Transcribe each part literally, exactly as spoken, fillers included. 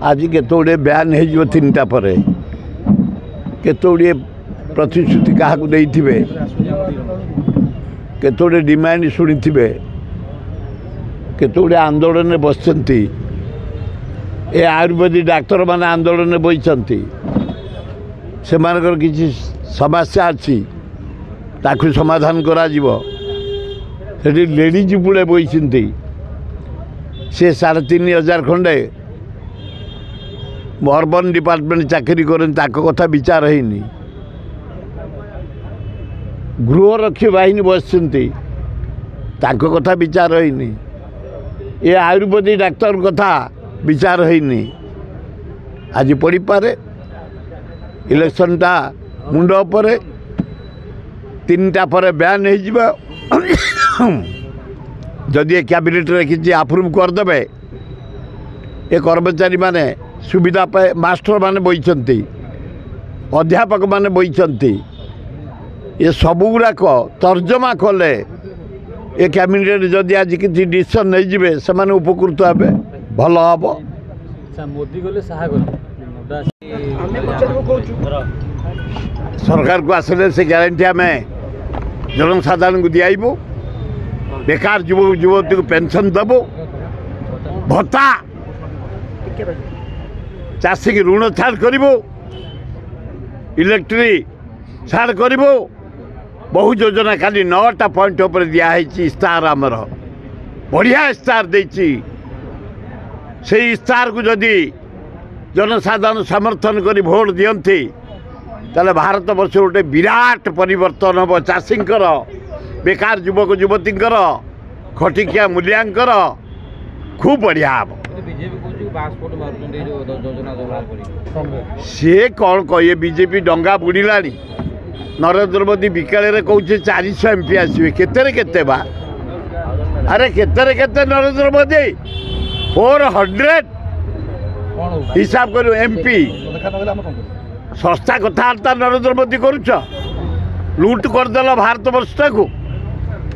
ଆଜି କେତେ ଗୁଡ଼ିଏ ବ୍ୟାନ୍ ହେଇଯିବ ତିନିଟା ପରେ, କେତେ ଗୁଡ଼ିଏ ପ୍ରତିଶ୍ରୁତି କାହାକୁ ଦେଇଥିବେ, କେତେ ଗୁଡ଼ିଏ ଡିମାଣ୍ଡ ଶୁଣିଥିବେ, କେତେ ଗୁଡ଼ିଏ ଆନ୍ଦୋଳନରେ ବସିଛନ୍ତି। ଏ ଆୟୁର୍ବେଦିକ ଡାକ୍ତରମାନେ ଆନ୍ଦୋଳନରେ ବସିଛନ୍ତି, ସେମାନଙ୍କର କିଛି ସମସ୍ୟା ଅଛି, ତାକୁ ସମାଧାନ କରାଯିବ। ସେଠି ଲେଡ଼ିଜ୍ ପୁଳେ ବସିଛନ୍ତି, ସେ ସାଢ଼େ ତିନି ହଜାର ଖଣ୍ଡେ ଅର୍ବାନ୍ ଡିପାର୍ଟମେଣ୍ଟ ଚାକିରି କରନ୍ତି, ତାଙ୍କ କଥା ବିଚାର ହେଇନି। ଗୃହରକ୍ଷୀ ବାହିନୀ ବସିଛନ୍ତି, ତାଙ୍କ କଥା ବିଚାର ହେଇନି। ଏ ଆୟୁର୍ବେଦିକ ଡାକ୍ତର କଥା ବିଚାର ହେଇନି। ଆଜି ପଡ଼ିପାରେ ଇଲେକ୍ସନଟା ମୁଣ୍ଡ ଉପରେ, ତିନିଟା ପରେ ବ୍ୟାନ୍ ହେଇଯିବ। ଯଦି ଏ କ୍ୟାବିନେଟ୍ରେ କିଛି ଆପ୍ରୁଭ୍ କରିଦେବେ, ଏ କର୍ମଚାରୀମାନେ ସୁବିଧା ପାଏ। ମାଷ୍ଟରମାନେ ବଇଛନ୍ତି, ଅଧ୍ୟାପକମାନେ ବଇଛନ୍ତି, ଏ ସବୁଗୁଡ଼ାକ ତର୍ଜମା କଲେ ଏ କ୍ୟାବିନେଟ୍ ଯଦି ଆଜି କିଛି ଡିସିସନ୍ ନେଇଯିବେ, ସେମାନେ ଉପକୃତ ହେବେ, ଭଲ ହେବ। ମୋଦି ଗଲେ, ଶାହା ଗଲେ, ସରକାରକୁ ଆସିଲେ ସେ ଗ୍ୟାରେଣ୍ଟି ଆମେ ଜନସାଧାରଣଙ୍କୁ ଦିଆଇବୁ। ବେକାର ଯୁବକ ଯୁବତୀଙ୍କୁ ପେନସନ୍ ଦେବୁ, ଭତ୍ତା, ଚାଷୀକି ଋଣ ଛାଡ଼ କରିବୁ, ଇଲେକ୍ଟ୍ରି ଛାଡ଼ କରିବୁ। ବହୁ ଯୋଜନା କାଲି ନଅଟା ପଏଣ୍ଟ ଉପରେ ଦିଆହେଇଛି ଇସ୍ତାହାର। ଆମର ବଢ଼ିଆ ଇସ୍ତାହାର ଦେଇଛି। ସେଇ ଇସ୍ତାହାରକୁ ଯଦି ଜନସାଧାରଣ ସମର୍ଥନ କରି ଭୋଟ ଦିଅନ୍ତି, ତାହେଲେ ଭାରତ ବର୍ଷ ଗୋଟେ ବିରାଟ ପରିବର୍ତ୍ତନ ହେବ। ଚାଷୀଙ୍କର, ବେକାର ଯୁବକ ଯୁବତୀଙ୍କର, ଖଟିଖିଆ ମୂଲିଆଙ୍କର ଖୁବ୍ ବଢ଼ିଆ ହେବ। ସିଏ କ'ଣ କହିବେ? ବିଜେପି ଡଙ୍ଗା ବୁଡ଼ିଲାଣି। ନରେନ୍ଦ୍ର ମୋଦି ବିକାଳରେ କହୁଛି ଚାରିଶହ ଏମ୍ ପି ଆସିବେ। କେତେରେ କେତେ ବା? ଆରେ କେତେରେ କେତେ ନରେନ୍ଦ୍ର ମୋଦି? ଫୋର୍ ହଣ୍ଡ୍ରେଡ଼ ହିସାବ କରିବ ଏମ୍ ପି। ଶସ୍ତା କଥାବାର୍ତ୍ତା ନରେନ୍ଦ୍ର ମୋଦି କରୁଛ। ଲୁଟ୍ କରିଦେଲ ଭାରତ ବର୍ଷଟାକୁ।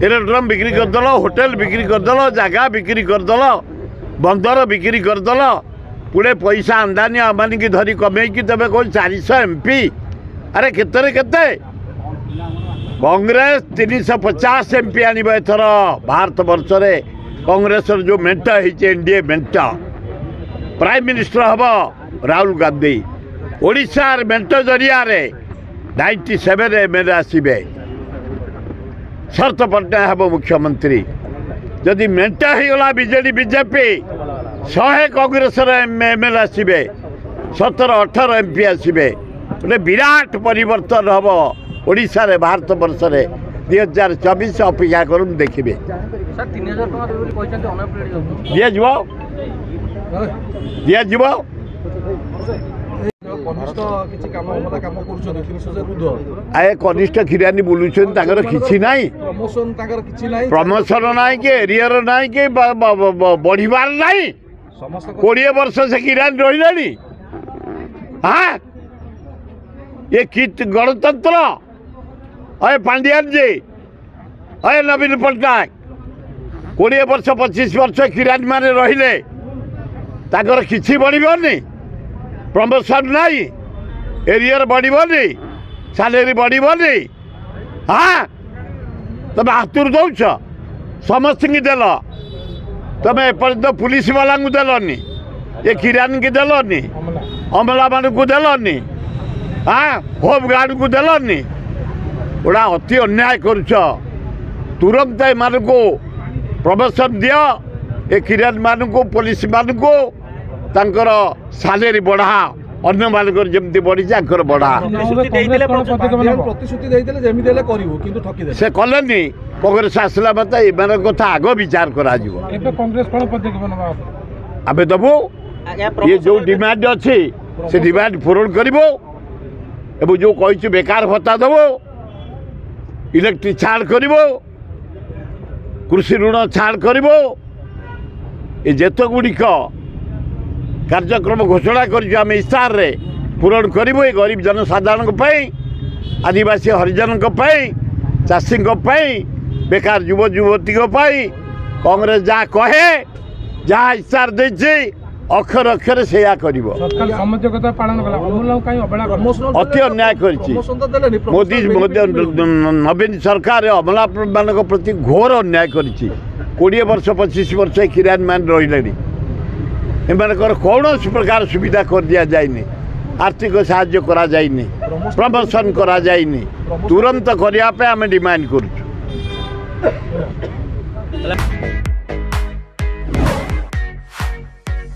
ଏରୋଡ୍ରମ୍ ବିକ୍ରି କରିଦେଲ, ହୋଟେଲ ବିକ୍ରି କରିଦେଲ, ଜାଗା ବିକ୍ରି କରିଦେଲ, ବନ୍ଦର ବିକ୍ରି କରିଦେଲ। ପୁଡ଼େ ପଇସା ଆମ୍ବାନୀ ଆମ୍ବାନୀକି ଧରି କମେଇକି ତେବେ କହୁଛ ଚାରିଶହ ଏମ୍ ପି। ଆରେ କେତେରେ କେତେ? କଂଗ୍ରେସ ତିନିଶହ ପଚାଶ ଏମ୍ ପି ଆଣିବ ଏଥର ଭାରତ ବର୍ଷରେ। କଂଗ୍ରେସର ଯେଉଁ ମେଣ୍ଟ ହେଇଛି, ଏନ୍ ଡି ଏ ମେଣ୍ଟ, ପ୍ରାଇମ୍ ମିନିଷ୍ଟର ହେବ ରାହୁଲ ଗାନ୍ଧୀ। ଓଡ଼ିଶାର ମେଣ୍ଟ ଜରିଆରେ ninety seven M L A ଆସିବେ, ଶରତ ପଟ୍ଟନାୟକ ହେବ ମୁଖ୍ୟମନ୍ତ୍ରୀ। ଯଦି ମେଣ୍ଟ ହେଇଗଲା ବିଜେଡ଼ି ବିଜେପି, ଶହେ କଂଗ୍ରେସର ଏମ୍ ଏଲ୍ ଆସିବେ, ସତର ଅଠର ଏମ୍ ପି ଆସିବେ। ଗୋଟେ ବିରାଟ ପରିବର୍ତ୍ତନ ହେବ ଓଡ଼ିଶାରେ, ଭାରତ ବର୍ଷରେ। ଦୁଇ ହଜାର ଚବିଶ ଅପେକ୍ଷା କରନ୍ତୁ, ଦେଖିବେ। ଦିଆଯିବ, ଦିଆଯିବ। ଆଏ କନିଷ୍ଠ ଖିରାନୀ ବୁଲୁଛନ୍ତି, ତାଙ୍କର କିଛି ନାହିଁ, ପ୍ରମୋସନ ନାହିଁ କି ଏରିୟର ନାହିଁ କି ବଢ଼ିବାର ନାହିଁ। କୋଡ଼ିଏ ବର୍ଷ ସେ କିରାନୀ ରହିଲେଣି। ହଁ, ଏ କି ଗଣତନ୍ତ୍ର? ଅଏ ପାଣ୍ଡିଆନ ଜି, ଅଏ ନବୀନ ପଟ୍ଟନାୟକ, କୋଡ଼ିଏ ବର୍ଷ ପଚିଶ ବର୍ଷ କିରାନୀ ମାନେ ରହିଲେ, ତାଙ୍କର କିଛି ବଢ଼ିବନି, ପ୍ରମୋସନ୍ ନାହିଁ, ଏରିୟର ବଢ଼ିବନି, ସାଲେରୀ ବଢ଼ିବନି। ହଁ, ତମେ ହାତରୁ ଦେଉଛ, ସମସ୍ତଙ୍କୁ ଦେଲ। ତମେ ଏପର୍ଯ୍ୟନ୍ତ ପୁଲିସ ବାଲାଙ୍କୁ ଦେଲନି, ଏ କିରାନୀକି ଦେଲନି, ଅମଲାମାନଙ୍କୁ ଦେଲନି, ହଁ, ହୋମ୍ ଗାର୍ଡ଼କୁ ଦେଲନି। ଗୋଟା ଅତି ଅନ୍ୟାୟ କରୁଛ। ତୁରନ୍ତ ଏମାନଙ୍କୁ ପ୍ରମୋସନ୍ ଦିଅ, ଏ କିରାନୀମାନଙ୍କୁ, ପୋଲିସମାନଙ୍କୁ ତାଙ୍କର ସାଲେରୀ ବଢ଼ା। ଅନ୍ୟମାନଙ୍କର ଯେମିତି ବଢ଼ିଛି, ଆଙ୍କର ବଢ଼ା। ପ୍ରତିଶ୍ରୁତି ଦେଇଥିଲେ ଯେମିତି ହେଲେ କରିବୁ, କିନ୍ତୁ ଠକିଦେଲେ। ସେ କଲେନି। କଂଗ୍ରେସ ଆସିଲା ମାତ୍ରେ ଏମାନଙ୍କ କଥା ଆଗ ବିଚାର କରାଯିବ। ଏବେ କଂଗ୍ରେସ କ'ଣ ପଦକ୍ଷେପ ନେବା? ଆମେ ଦେବୁ। ଇଏ ଯେଉଁ ଡିମାଣ୍ଡ ଅଛି, ସେ ଡିମାଣ୍ଡ ପୂରଣ କରିବୁ ଏବଂ ଯେଉଁ କହିଛୁ ବେକାର ଭତ୍ତା ଦେବୁ, ଇଲେକ୍ଟ୍ରିକ୍ ଛାଡ଼ କରିବୁ, କୃଷି ଋଣ ଛାଡ଼ କରିବୁ, ଏ ଯେତେ ଗୁଡ଼ିକ କାର୍ଯ୍ୟକ୍ରମ ଘୋଷଣା କରିଛୁ ଆମେ ଇସ୍ତାହାରରେ, ପୂରଣ କରିବୁ। ଏ ଗରିବ ଜନସାଧାରଣଙ୍କ ପାଇଁ, ଆଦିବାସୀ ହରିଜନଙ୍କ ପାଇଁ, ଚାଷୀଙ୍କ ପାଇଁ, ବେକାର ଯୁବ ଯୁବତୀଙ୍କ ପାଇଁ କଂଗ୍ରେସ ଯାହା କହେ, ଯାହା ଇସ୍ତାହାର ଦେଇଛି, ଅକ୍ଷର ଅକ୍ଷରେ ସେଇଆ କରିବ। ସରକାର ସମଯୋଗତା ପାଳନ କଲା, ଅମଲାଙ୍କୁ କାହିଁ ଅବହେଳା କଲା? ଅତି ଅନ୍ୟାୟ କରିଛି ମୋଦି। ନବୀନ ସରକାର ଅମଲାମାନଙ୍କ ପ୍ରତି ଘୋର ଅନ୍ୟାୟ କରିଛି। କୋଡ଼ିଏ ବର୍ଷ ପଚିଶ ବର୍ଷ ଏ କିରାନୀମାନେ ରହିଲେଣି, ଏମାନଙ୍କର କୌଣସି ପ୍ରକାର ସୁବିଧା କରିଦିଆଯାଇନି, ଆର୍ଥିକ ସାହାଯ୍ୟ କରାଯାଇନି, ପ୍ରମୋସନ୍ କରାଯାଇନି। ତୁରନ୍ତ କରିବା ପାଇଁ ଆମେ ଡିମାଣ୍ଡ କରୁଛୁ।